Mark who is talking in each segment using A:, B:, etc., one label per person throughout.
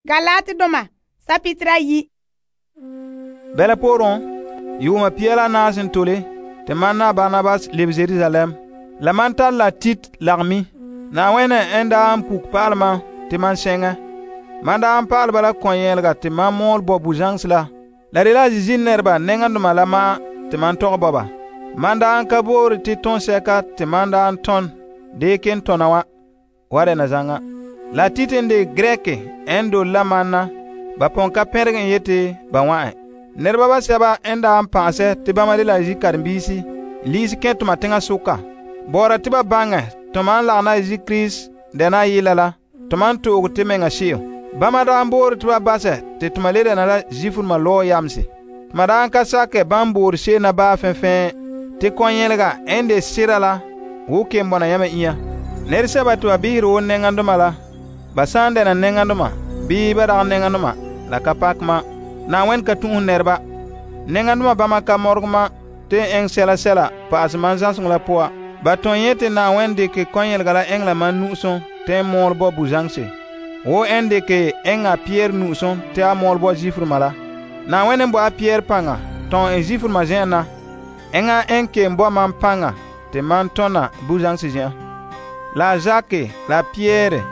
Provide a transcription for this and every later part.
A: Galatedoma sapitira 1.
B: Bɛla pooren, yuuma pia la naam sẽn tole tɩ mam na Barnabas lebe Jerusalem. La man tar la Tit lagmi. Na'awɛnɛ n daa n puk pa'alɛ mam tɩ mam sɛŋɛ. Man daa n pa'alɛ bala kɔn-yɛɛlega tɩ mam mɔɔl bɔ bu-zãŋse la. La de la zizin nɛreba nɛŋadoma la ma'an tɩ man tɔgɛ bɔba. Man daa n ka boore tɩ tõsɛka tɩ man daa n tɔn dee ken tɔna wa dɛna zaŋa. La Tit n de Grek n dole la man na, ba pon ka pɛnregɛ n yeti ba wa'an. Nɛreba basɛba n daa n pa'asɛ tɩ bama de la zi-karen-biisi liisi kẽ toma teŋa soka. Bɔɔra tɩ ba baŋɛ tɔma n lagena Kirist dɛna yɩla la, tɔma n to'oge tɩ meŋa she'em. Bama daa n boore tɩ ba basɛ tɩ tɔma le dɛna la Zifurema lɔɔ yamse. Tɔma daa n ka sakɛ ban boore se'em na baa fɛnfɛn tɩ kɔn-yɛlega n de sera la wo ken bɔna yãmɛ inya. Nɛresɛba tɩ ba bihere wo nɛŋadoma la, ba sã n dɛna nɛŋadoma bii ba dagɛ nɛŋadoma la ka pak ma. Na'awɛn ka tũus nɛreba. Nɛŋadoma bama ka mɔrɔgɛ ma tɩ n ɛŋ sɛla sɛla pa'asɛ mam zãseŋɔ la poa. Ba tõe yẽ tɩ Na'awɛn dɩkɛ kɔn-yɛlega la ɛŋ la mam nu'usem tɩ n mɔɔl bɔ bu-zãŋse, wo n dɩkɛ ɛŋa Pɩyɛɛr nu'usem tɩ a mɔɔl bɔ Zifurema la. Na'awɛn n bo a Pɩyɛɛr paŋa tɔn n Zifurema zen'an na, ɛŋa n kelum bo mam paŋa tɩ man tɔna bu-zãŋse zen'an. La Zake la Pɩyɛɛr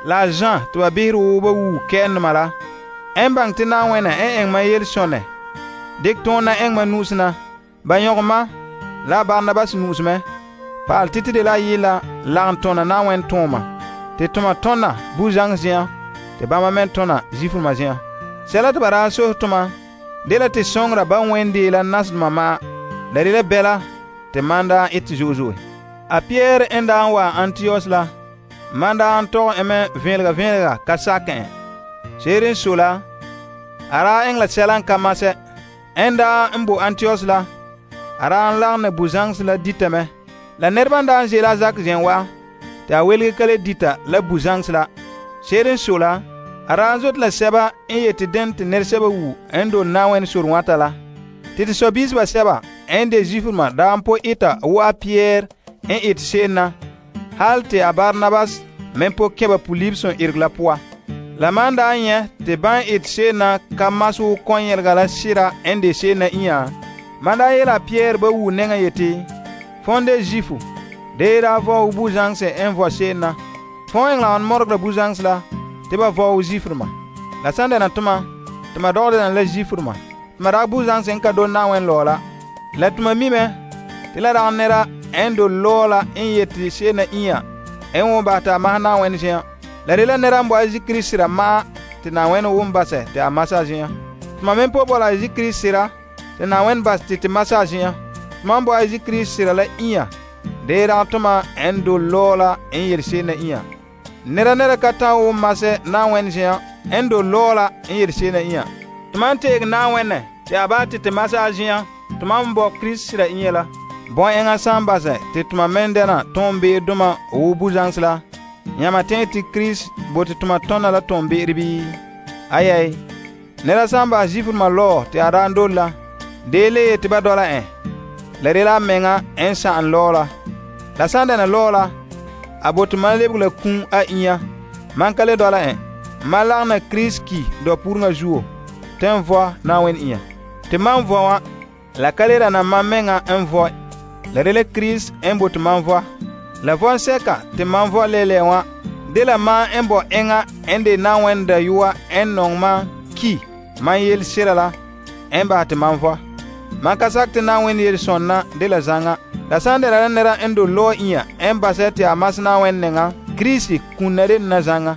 B: la Zã tɩ ba bihere wo ba wuu kɛ'ɛndoma la, n baŋɛ tɩ Na'awɛnɛ n ɛŋ mam yel-sõnɛ dɩk tõog na ɛŋ mam nu'usen na. Ba yõg ma la Barnabas nu'us mɛ. Paal tɩ tɩ de la yɩla lagem tõna Na'awɛn tõoma tɩ tʋma tõna bu-zãŋs zen'an tɩ bãmba me tõna Zifurema zen'an. Sɛla tɩ ba daa sos tʋma de la tɩ sõŋora ba wẽn dee la nasedoma ma, la de la bɛla tɩ man daa ɩtɛ zo'e zo'e. A Pɩyɛɛr n daa n wa Antiyos la, man daa n tɔgɛ me vẽelga ka sakɛ en. Seere n so la, a daa ɛŋ la sɛla n ka masɛ. N daa n bo Antiyos la, a daa n lagene bu-zãŋse la ditame. La nɛreba n daa n zeele a zak zen wa, tɩ a welge ka le dita la bu-zãŋse la. Seere n so la, a daa n zote la sɛba n yeti dẽn tɩ nɛresɛba wu n dole Na'awɛn sor wãta la. Tɩ tɩ sɔ-biiseba sɛba n de Zifurema daa n po ɩta wo a Pɩyɛɛr n ɩtɛ se'em na, hal tɩ a Barnabas me po kẽ ba pulib sẽn ereg la poa. La man daa n yẽ tɩ ban ɩtɛ se'em na ka mas wo kɔn-yɛlega la sɩra n de se'em na inya, man daa yeela a Pɩyɛɛr ba wuu nɛŋa yeti, fõn de Zifu, dee daa vɔɔge bu-zãŋse n vɔ se'em na. Fõn ɛŋ la wan mɔrɔgera bu-zãŋse la tɩ ba vɔɔge Zifurema. La sãn dɛna tʋma tɩ ma dɔgɛ dɛna la Zifurema, tɩ ma dag bu-zãŋse n ka dole Na'awɛn lɔɔ la. La tʋma mi mɛ tɩ la dag nɛra n dole lɔɔ la n yeti se'em na inya n wʋm basɛ tɩ a mas Na'awɛn zen'an. La de la nɛra n bo a Kirist sɩra ma'an tɩ Na'awɛn wʋm basɛ tɩ a mas a zen'an. Tʋma me po bo la Kirist sɩra tɩ Na'awɛn bas tɩ mas a zen'an. Tʋma n bo a Kirist sɩra la inya, dee dag tʋma n dole lɔɔ la n yel se'em na inya. Nɛra ka tã wʋm masɛ Na'awɛn zen'an n dole lɔɔ la n yel se'em na inya. Tʋma n teeg Na'awɛnɛ tɩ a baa tɩ mas a zen'an, tʋma n bɔ Kirist sɩra inya la. Bõn-ɛŋa sã n basɛ tɩ tʋma me n dɛna tõom-be'er-dʋma wo bu-zãŋse la, yãma tẽe tɩ Kirist bote tʋma tõna la tõom-be'er bii? Ayɛy, nɛra sã n bas Zifurema lɔɔ tɩ a daa n dole la, dee le yetɩ ba dɔla ẽ, la de la a menga n sãn lɔɔ la. La sã n dɛna lɔɔ la, a bote man lebg la kũum a inya, man ka le dɔla ẽ. Man lagena Kirist ki dɔ-pureŋa zuo tɩ n vɔ Na'awɛn inya. Tɩ man vɔ wã, la ka le dana man menga n vɔ, la de la Kirist n bote man vɔ. La vɔn-sɛka tɩ man vɔ lɛɛlɛɛ wã de la man n bɔ ɛŋa n de Na'awɛn dayɔa n nɔŋ man ki man yel sɩra la n basɛ tɩ man vɔ. Man ka sak tɩ Na'awɛn yel-sõnna de la zãŋa. La sã n dɛna la nɛra n dole lɔɔ inya n basɛ tɩ a mas Na'awɛn nɛŋa, Kirist kũnna de na zãŋa.